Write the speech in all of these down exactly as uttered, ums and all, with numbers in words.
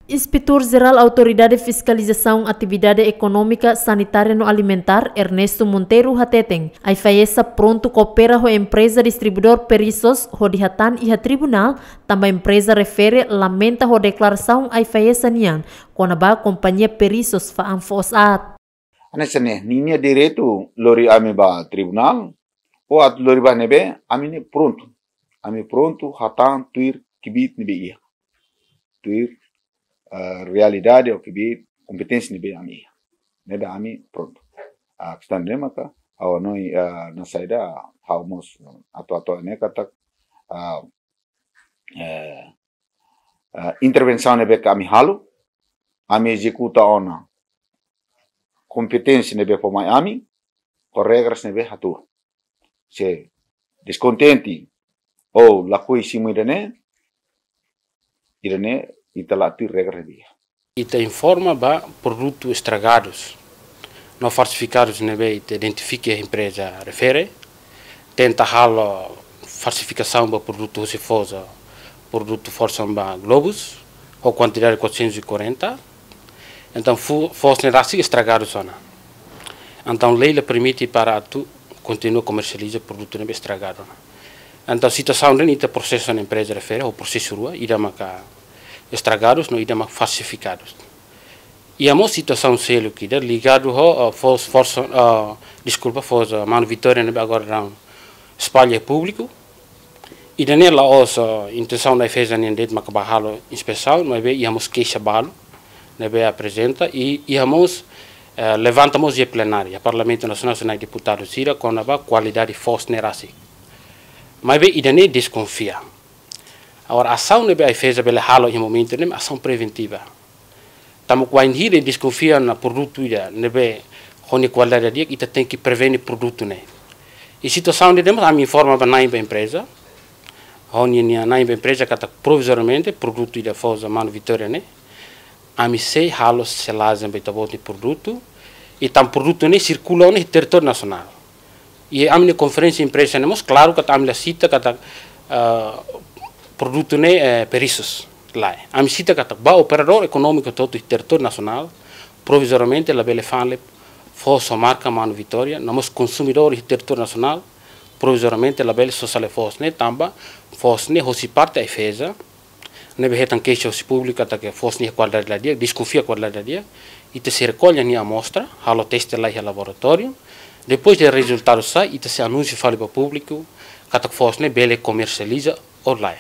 Inspetór Jerál Autoridade Fiskalizasaun Atividade Ekonómika, Sanitária no Alimentár, Ernesto Monteiro hateten, AIFAESA prontu koopera ho empreza distribuidór Perisos hodi hatán iha tribunál, tanba empreza refere lamenta ho deklarasaun AIFAESA nian kona-ba kompañia Perisos fa'an foos aat. Hanesan ne'e, ninia direitu lori ami ba tribunál, ou atu lori ba ne'ebé, ami ne'e prontu. Ami prontu hatán tuir kbiit ne'ebé iha. Tuir, eh, realidade ou kbiit kompeténsia ne'ebé ami iha. Ne'ebé ami prontu. Ah, kestaun ne'e maka, ha'u hanoin, eh, na saida, ha'u mós atu, atu ne'e katak, ah, eh, eh, intervensaun ne'ebé ke ami halo, ami ezekuta ona kompeténsia ne'ebé fó mai ami, ho regras ne'ebé hatuur. Se deskontente ou lakohi simu ida-ne'e, ida-ne'e ita la tuir regra ne'ebé iha. Ita informa ba produtu estragadus no falsifikadus ne'ebé ita identifika iha empreza refere, tenta halo falsifikasaun ba produtu husi foos, produtu forsan ba Globus, ho kuantidade quatrocentos e quarenta. Entaun, fu-, foos ne'e rasik estragadus ona. Entaun, lei la permite para atu kontinua komersializa produtu ne'ebé estragadu ona. Entaun, situasaun ne'e ita prosesa ona empreza refere, ho prosesu rua, ida maka estragadus, no ida maka falsifikadus. Iha mós situasaun seluk ida ligadu ho, ah, foos, foos, ah, deskulpa, foos, ah, Mano Vitória ne'ebé agora daudaun espalla iha públiku. Ida-ne'e la'ós, ah, intensaun da AIFAESA nian de'it maka bá halo inspesaun, maibé iha mós keixa balu ne'ebé aprezenta, i iha mós, eh, levanta mós iha plenária Parlamentu Nasionál, sira-nia deputadu sira, kona-ba kualidade foos ne'e rasik. Maibé ida-ne'e deskonfia. Agora, asaun ne'ebé AIFAESA bele halo iha momentu ne'e, asaun preventiva. Tanba bainhira deskonfia ona produtu ida ne'ebé ho nia kualidade di'ak, ita tenke prevene produtu ne'e. I situasaun ida-ne'e mós ami informa ba na'in ba empreza. Ho nia, nia na'in ba empreza katak provizoriamente produtu ida foos Mano Vitória ne'e, ami sei halo selajen ba ita-boot nia produtu, i tanba produtu ne'e sirkula ona iha territóriu nasionál. I ami-nia konferénsia imprensa ne'e mós klaru katak ami la sita katak, eh, produtu ne'e, eh, Perisos. Lae. Ami sita katak ba operadór ekonómiku hotu-hotu iha territóriu nasionál, provizoriamente labele fa'an fali foos ho marka Mano Vitória, no mós konsumidór iha territóriu nasionál, provizoriamente labele sosa fali foos ne'e, tanba foos ne'e hosi parte AIFAESA, ne'ebé hetan keixa hosi públiku katak foos ne'e kualidade la di'ak, deskonfia kualidade la di'ak, ita sei rekolla nia amostra, halo teste lai iha laboratóriu, depois de rezultadu sai, ita sei anunsia fali ba públiku katak foos ne'e bele komersializa ou lae.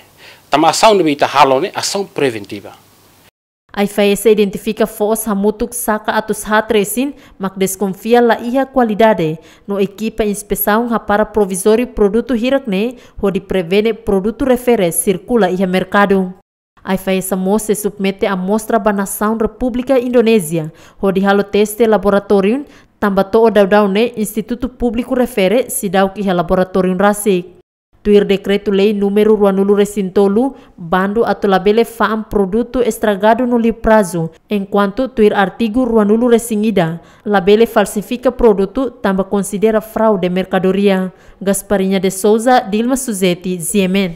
Tanba asaun ne'ebé ita halo ne'e asaun preventiva. AIFAESA identifika foos hamutuk saka atus haat resin, mak deskonfia la iha kualidade, no ekipa inspesaun hapara provizóriu produtu hirak ne'e, hodi prevene produtu refere sirkula iha merkadu. AIFAESA mós sei submete amostra ba nasaun Repúblika Indonézia, hodi halo teste laboratóriu, tanba to'o daudaun ne'e institutu públiku refere seidauk iha laboratóriu rasik. Tuir dekretu-lei númeru ruanulu resin tolu, bandu atu labele fa'an produtu estragadu no liu prazu, enkuantu tuir artigu ruanulu resin ida, labele falsifika produtu tanba konsidera fraude merkadoria. Gasparinha de Souza, Dilma Suzeti, G M N.